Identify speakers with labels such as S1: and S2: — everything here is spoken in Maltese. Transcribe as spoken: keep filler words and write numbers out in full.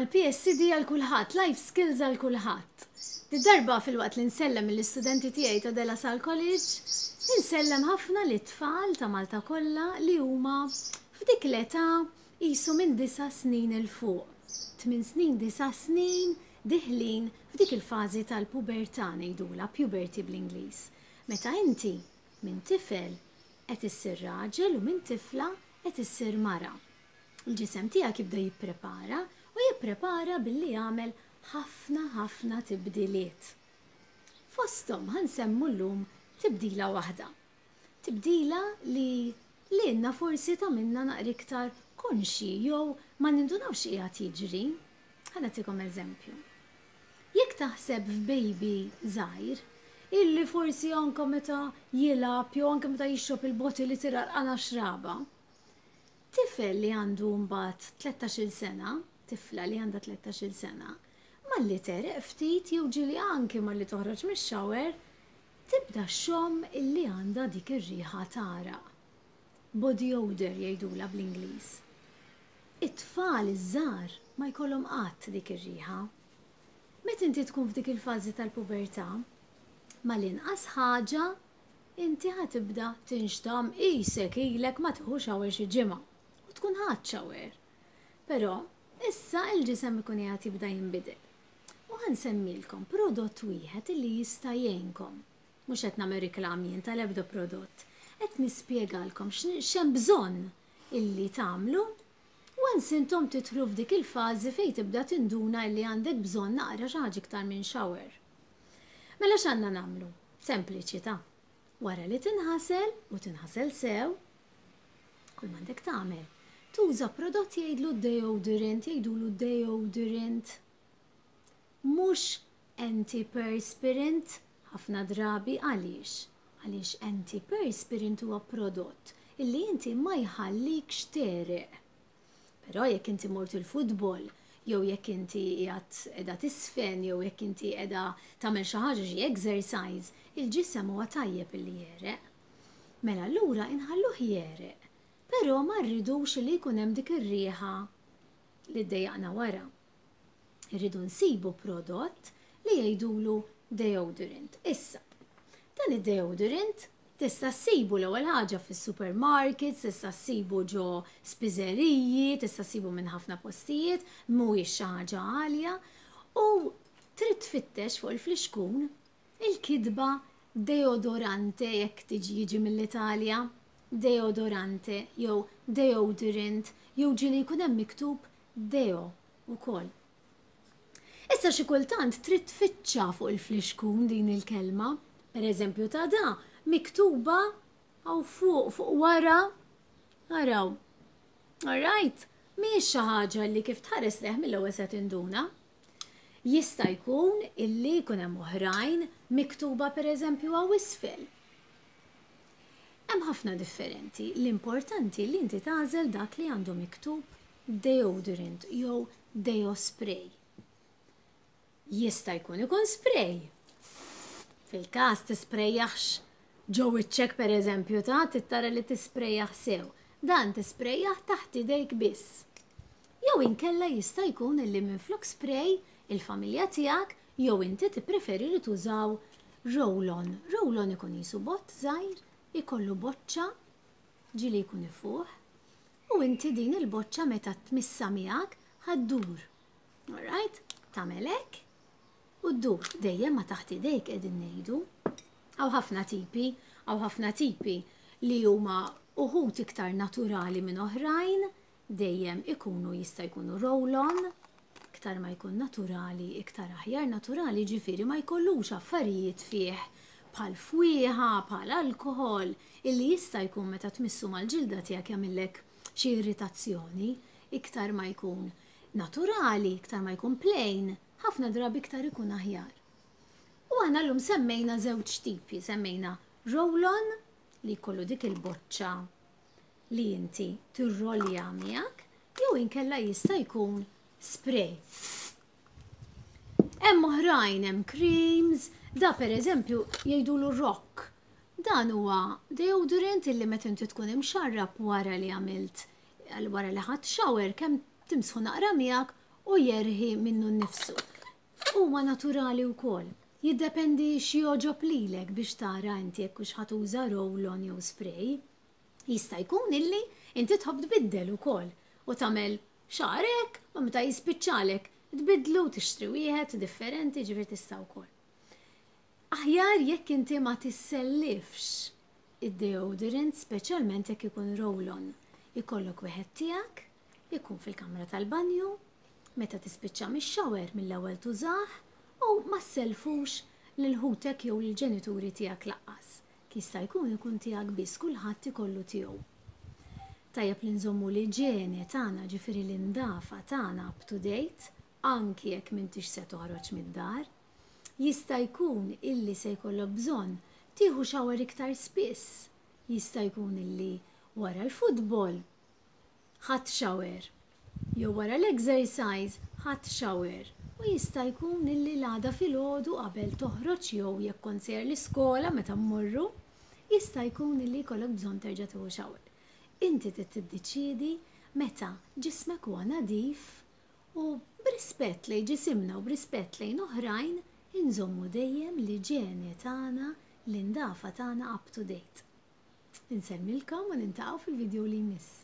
S1: Għal P S C D għal kulħadd, Life Skills għal kulħadd. Darba filwaqt li nsellem l-istudenti tiegħi ta' De La Salle College, insellem ħafna lit-tfal ta' Malta kollha li huma f'dik l-età qisu minn disa' snin 'il fuq. Tmien snin, disa' snin, deħlin f'dik il-fażi tal-pubertà, ngħidula puberty bl-Ingliż. Meta inti minn tifel qed issir raġel u minn tifla qed issir mara. Il-ġisem tiegħek jibda jipprepara u jipprepara billi jagħmel ħafna ħafna tibdiliet. Fosthom ħa nsemmu llum tibdila waħda. Tibdila li lilna forsi tagħmilna naqra iktar konxi jew ma nindunawx qiegħed jiġri. Ħa nagħtikom eżempju. Jekk taħseb f'baby żgħir, illi forsi anka meta jilgħab jew anke meta jixrob il-bottle li tira l xraba. Tifel li għandu mbagħad tlettax-il sena, tifla li għandha tlettax-il sena, malli tegħreq ftit jew ġieli anki malli toħroġ mix-shower, tibda xxomm illi għandha dik ir-riħa t'għaraq. Body odor jgħidula bl-Ingliż. It-tfal iż-żgħar ma jkollhom qatt dik ir-riħa. Meta inti tkun f'dik il-fażi tal-pubertà, mal-inqas ħaġa inti ħa tibda tinxtam qisek ilek ma tieħu shower xi ġimgħa u tkun ħadt shower. Però issa il-ġisem ikun qiegħed jibda jinbidel. U ħa nsemmilkom prodott wieħed illi jista' jgħinkom. Mhux qed nagħmel reklam jien tal-ebda prodott. Qed nispjegalkom x'hemm bżonn illi tagħmlu once intom tidħlu f'dik il-fażi fejn tibda tinduna illi għandek bżonn naqra xi ħaġa iktar minn shower. Mela x'għandna nagħmlu? Sempliċi ta'. Wara li tinħasel u tinħasel sew, kull m'għandek tagħmel, tuża prodott jgħidlu deodorant, jgħidulu deodorant. Mhux antiperspirant ħafna drabi. Għaliex? Għaliex antiperspirant huwa prodott illi inti ma jħallikx tegħreq. Però jekk inti mort il-futbol, jew jekk inti qiegħed qiegħda tiżfen, jew jekk inti qiegħda tagħmel xi ħaġa, xi exercise, il-ġisem huwa tajjeb illi jegħreq. Mela allura inħalluh jegħreq. Però ma rridux li jkun hemm dik ir-riħa li ddejjaqna wara. Irridu nsibu prodott li jgħidulu deodorant. Issa, dan id-deodorant tista' ssibu l-ewwel ħaġa fis-supermarkets, tista' ssibu ġo spiżeriji, tista' ssibu minn ħafna postijiet, mhuwiex xi ħaġa għalja u trid tfittex fuq il-flixkun il-kitba deodorante jekk tiġi jiġi mill-Italja, deodorante jew deodorant jew ġieli jkun hemm miktub deo ukoll. Issa xi kultant trid tfittxa fuq il-flixkun din il-kelma, per eżempju ta' da miktuba hawn fuq fuq wara, araw. Alright, mhijiex xi ħaġa li kif tħares lejh mill-ewwel se tinduna. Jista' jkun illi jkun hemm oħrajn miktuba, pereżempju, hawn isfel. Hemm ħafna differenti. L-importanti li inti tagħżel dak li għandu miktub deodorant jew deo spray. Jista' jkun ikun spray. Fil-każ tisprejjaħx ġo wiċċek, per eżempju, ta' tittara li tisprejjaħ sew. Dan tisprejjaħ taħt idejk biss. Jew inkella jista' jkun illi minflok spray il-familja tiegħek jew inti tippreferi li tużaw roll-on. Roll-on ikun qisu bott żgħir, ikollu boċċa, ġieli jkun ifuħ, u inti din il-boċċa meta tmissa miegħek ħa ddur. Alright? Tagħmel hekk u ddur dejjem ma taħt idejk qegħdin ngħidu. Hawn ħafna tipi, hawn ħafna tipi li huma uħud iktar naturali minn oħrajn, dejjem ikunu jista' jkunu roll-on, iktar ma jkun naturali, iktar aħjar. Naturali ġifieri ma jkollux affarijiet fih bħal fwieħa, bħal alkohol, illi jista' jkun meta tmissu mal-ġilda tiegħek jagħmillek xi irritazzjoni. Iktar ma jkun naturali, iktar ma jkun plain, ħafna drabi iktar ikun aħjar. U aħna llum semmejna żewġ tipi, semmejna roll-on li jkollu dik il-boċċa li inti tirrolja miegħek, jew inkella jista' jkun spray. Hemm oħrajn, hemm creams, da per eżempju jgħidulu Rock. Dan huwa deodorant illi meta inti tkun imxarrab wara li għamilt, wara li ħadt shower, kemm timsħu naqra miegħek. u jerħi minnu nnifsu. Huma naturali wkoll. Jiddependi x'jogħġob lilek biex tara inti jekk hux ħa tuża roll-on jew spray. Jista' jkun illi inti tħobb tbiddel ukoll u tagħmel xagħrek ma meta jispiċċalek tbiddlu, tixtri wieħed differenti, ġifieri tista' wkoll. Aħjar jekk inti ma tissellifx id-deodorant, speċjalment jekk ikun roll-on. Ikollok wieħed tiegħek, ikun fil-kamra tal-banju, meta tispiċċa mix-shower mill-ewwel tużah u ma ssellfux lil ħutek jew lill-ġenituri tiegħek lanqas. Jista' jkun ikun tiegħek biss, kulħadd ikollu tiegħu. Tajjeb li nżommu l-iġene tagħna, ġifieri l-indafa tagħna, up to date, anki jekk m'intix se toħroġ mid-dar. Jista' jkun illi se jkollok bżonn tieħu shower iktar spiss. Jista' jkun illi wara l-futbol ħadt shower jew wara l-exercise ħadt shower. U jista' jkun illi l-għada filgħodu qabel toħroġ jew jekk kont sejjer l-iskola meta mmorru, jista' jkun illi jkollok bżonn terġa' tieħu shower. Inti trid tiddeċiedi meta ġismek huwa nadif u b'rispett lejn ġisimna u b'rispett lejn oħrajn inżommu dejjem l-iġene tagħna, l-indafa tagħna up to date. Insellmilkom u niltaqgħu fil-video li jmiss.